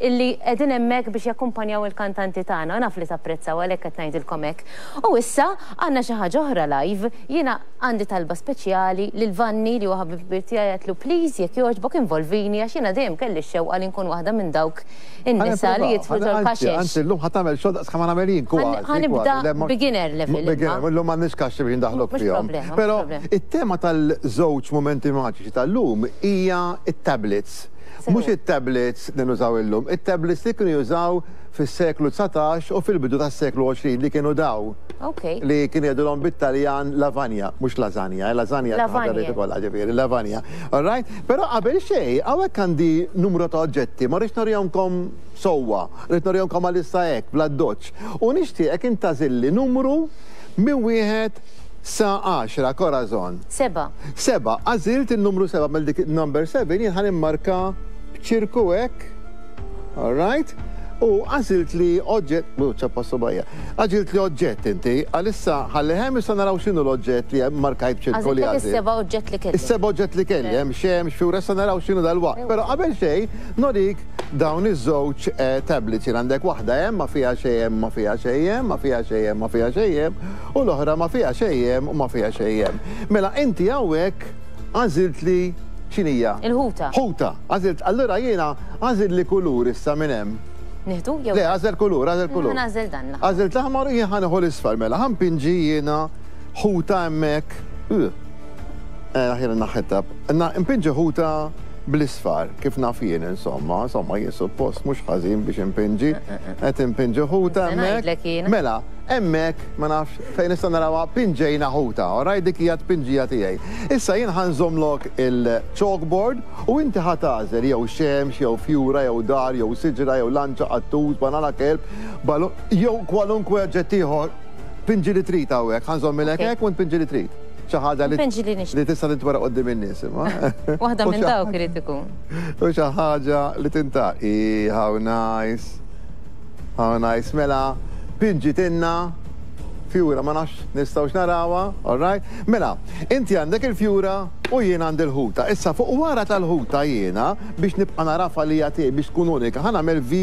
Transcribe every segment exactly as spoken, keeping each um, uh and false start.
Illi qegħdin hemmhekk biex jakkumpanjaw il-kantanti tagħna, naf li tapprezzaw, għalhekk qed ngħidilkom hekk. U issa għandna xi ħaġa oħra live, jiena għandi talba speċjali lil Vanni li huwa ħabib kbir tiegħi, għedtlu, "Please, jekk jogħġbok involvini," għax jiena dejjem kelli x-xewqa li nkun waħda minn dawk in-nisa li jitfu ġol-kaxex. Anzi, llum ħa tagħmel xogħol daqs kemm nagħmel jien kważi. Ħa nibda beginner level. Beginner, llum m'għandniex kaxxi biex ndaħlok fihom. Però it-tema tal-żewġ momenti maġiċi tal-lum hija it-tablets. Mhux it-tablets li nużaw illum, it-tablets li kienu jużaw fis-seklu dsatax u fil-bidu tas-seklu għoxrin, li kienu daw. Li kienu jgħidulhom bit-Taljan lavagna, mhux lasagna, eh, lasagna lavagna, ġifieri, lavagna. All right? Però qabel xejn, hawnhekk għandi numru ta' oġġetti, ma rridx nurihomkom sewwa, rrid nurihomkom għalissa hekk, bl-addoċċ. U nixtieqek intagħżilli numru minn wieħed sa għaxra, Corazon. Seba. Seba, għażilt il-numru seba, mela dik number seven jien ħa nimmarka b'ċirku hekk. All right? U għażilt li oġġett, u ċappa subajja, għażilt li oġġett inti, għalissa ħalli hemm, issa naraw x'inhu l-oġġett li hemm markajt b'ċirku li għażilt. Is-seba' oġġett li kelli. Is-seba' oġġett li kelli, hemm xemx, fjura, issa naraw x'inhu dal-waqt. Però qabel xejn, norik dawn iż-żewġ eh, tablets. Jien għandek waħda hemm ma fiha xejn hemm, ma fiha xejn hemm, ma fiha xejn hemm, ma fiha xejn hemm, u l-oħra ma fiha xejn hemm u ma fiha xejn hemm. Mela inti hawnhekk għażilt li x'inhija? Il-ħuta. Ħuta, għażilt, allura jiena għażilt li kulur issa minn hemm. Nieħdu jew? Le, għażel kulur, għażel kulur. Nagħżel dan. Għażilt l-aħmar u jien ħa nieħu l-isfar, mela. Ħa npinġi jiena ħuta hemmhekk. Eh, aħjar naħħetta. Npinġi ħuta bl-isfar, kif naf jien insomma, insomma jien suppost mhux ħażin biex impinġi. Qed impinġi ħuta hemmhekk. Mela, hemmhekk ma nafx fejn nista' narawha, pinġejna ħuta, alright, dik hija tpinġija tiegħi. Issa jien ħa nżommlok il-chalkboard u inti ħa tagħżel jew xemx, jew fjura, jew dar, jew siġra, jew lanċa, qattus, banana, kelb, jew kwalunkwe oġġett ieħor. Pinġi li trid hawnhekk, ħa nżommilek hekk u npinġi li trid. Xi ħaġa li li tista' tintwera quddiem in-nies imma. Waħda minn dawk irid ikun. U xi ħaġa li tinta. How nice. How nice. Mela, pinġitilna fjura, ma nafx nistgħux narawha, all right? Mela, inti għandek il-fjura u jien għandi l-ħuta. Issa fuq wara tal-ħuta jiena, biex nibqa' narafa li jagħti biex tkun unika, ħa nagħmel V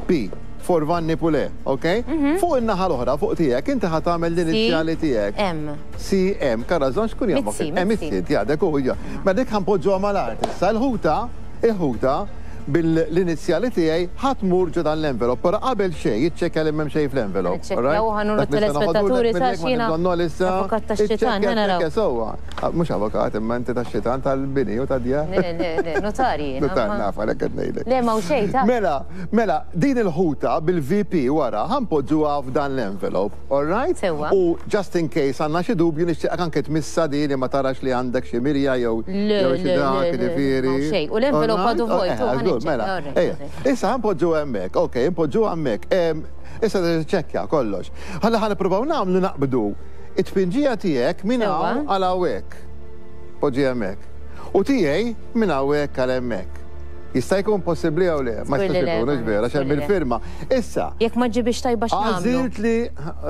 P for Vanni Pule, ok? Mhm. Fuq in-naħa l-oħra, fuq tiegħek, inti ħa tagħmel l-inizjali tiegħek. M. C M, Corazon x'kun jagħmel? M, Mizzi, għadek u Ma dik ħa npoġġuha mal-art. Issa l-ħuta, il-ħuta bil-inizjali tiegħi ħa tmur ġo dan l-envelop, però qabel xejn jiċċekkja li m'hemm xejn fl-envelop. Niċċekkjaw, ħa nuru telespettaturi ta' xina. Avukat tax-xitan, ħa naraw. Sewwa, mhux avukat, imma inti tax-xitan tal-bini u tad-djar. Le, le, le, notari. Notar naf, għalhekk qed ngħidlek. Le, ma xejn ta' Mela, mela, din il-ħuta bil-V P wara ħa npoġġuha f'dan l-envelop, all right? Sewwa. U just in case għandna xi dubju, nixtieqek anke tmissa din li ma tarax li għandek xi mirja jew jew xi dak, ġifieri. Xejn. U l-envelop għadu vojt. Mela, issa ħa npoġġu hemmhekk, ok, npoġġu hemmhekk. Issa ċekkja kollox. Ħalla ħa nippruvaw nagħmlu naqbdu it-tpinġija tiegħek minn hawn għal hawnhekk. Poġġi hemmhekk. U tiegħi minn hawnhekk għal hemmhekk. Jista' jkun possibbli jew le? Ma jistax ikun, hux vera, x'hemm il-firma. Issa. Jekk ma ġibix tajba, x'nagħmlu? Għażilt li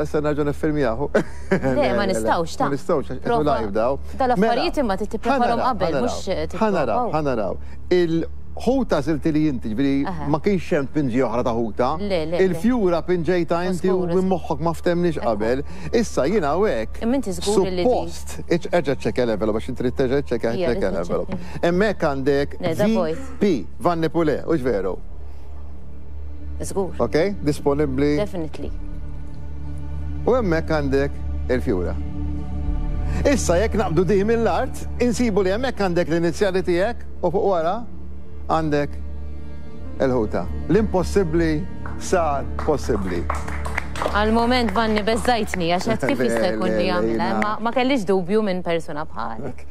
issa nerġa' niffirmjahu. Le, ma nistgħux ta' Ma nistgħux, qed live daw. Dal-affarijiet imma tippreparahom qabel, mhux Ħa naraw, ħa naraw. Il-ħuta għażilt li inti, ġifieri ma kienx hemm pinġi oħra ta' ħuta. Il-fjura pinġejta inti u minn moħħok, ma ftemniex qabel. Issa jiena hawnhekk. Imma inti żgur li Suppost, erġa' ċċekkja l-envelope għax inti terġa' ċċekkja ċċekkja l-envelope. Hemmhekk għandek V P, Vanni Pule, hux veru? Żgur. Ok, disponibbli. Definitely. U hemmhekk għandek il-fjura. Issa jekk naqbdu di mill-art, insibu li hemmhekk għandek l-inizjali tiegħek u fuq wara għandek il-ħuta. L-impossibbli sar possibbli. Għal-moment, Vanni, beżżajtni, għax għedt kif jista' jkun li jagħmilha, ma ma kellix dubju minn persuna bħalek.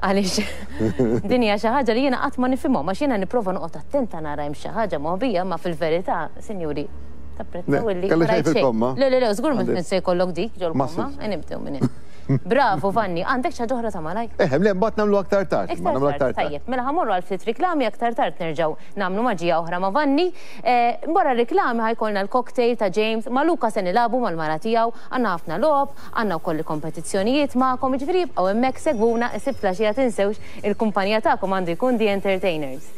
Għaliex din hija xi ħaġa li jiena qatt ma nifhimhom, għax jiena nipprova noqgħod attenta nara hemm xi ħaġa moħbija, ma fil-verità, sinjuri, tapprezzaw illi Kellu xejn fil-komma. Le, le, le, żgur mhux se jkollok dik ġol-komma, nibdew minn hemm. Bravo, Vanni, għandek xi ħaġa oħra ta' malaj? Eh, le, mbagħad nagħmlu aktar tard. Aktar tard, tajjeb. Mela ħa mmorru għal ftit riklami, aktar tard nerġgħu nagħmlu maġija oħra ma' Vanni. Eh, wara riklami ħa jkollna l-cocktail ta' James, ma' Luka se nilagħbu mal-mara tiegħu, għandna ħafna logħob, għandna wkoll kompetizzjonijiet magħkom, jiġifieri jibqgħu hemmhekk, segwuna, is-Sibt filgħaxija tinsewx, il-kumpanija tagħkom għandu jkun The Entertainers.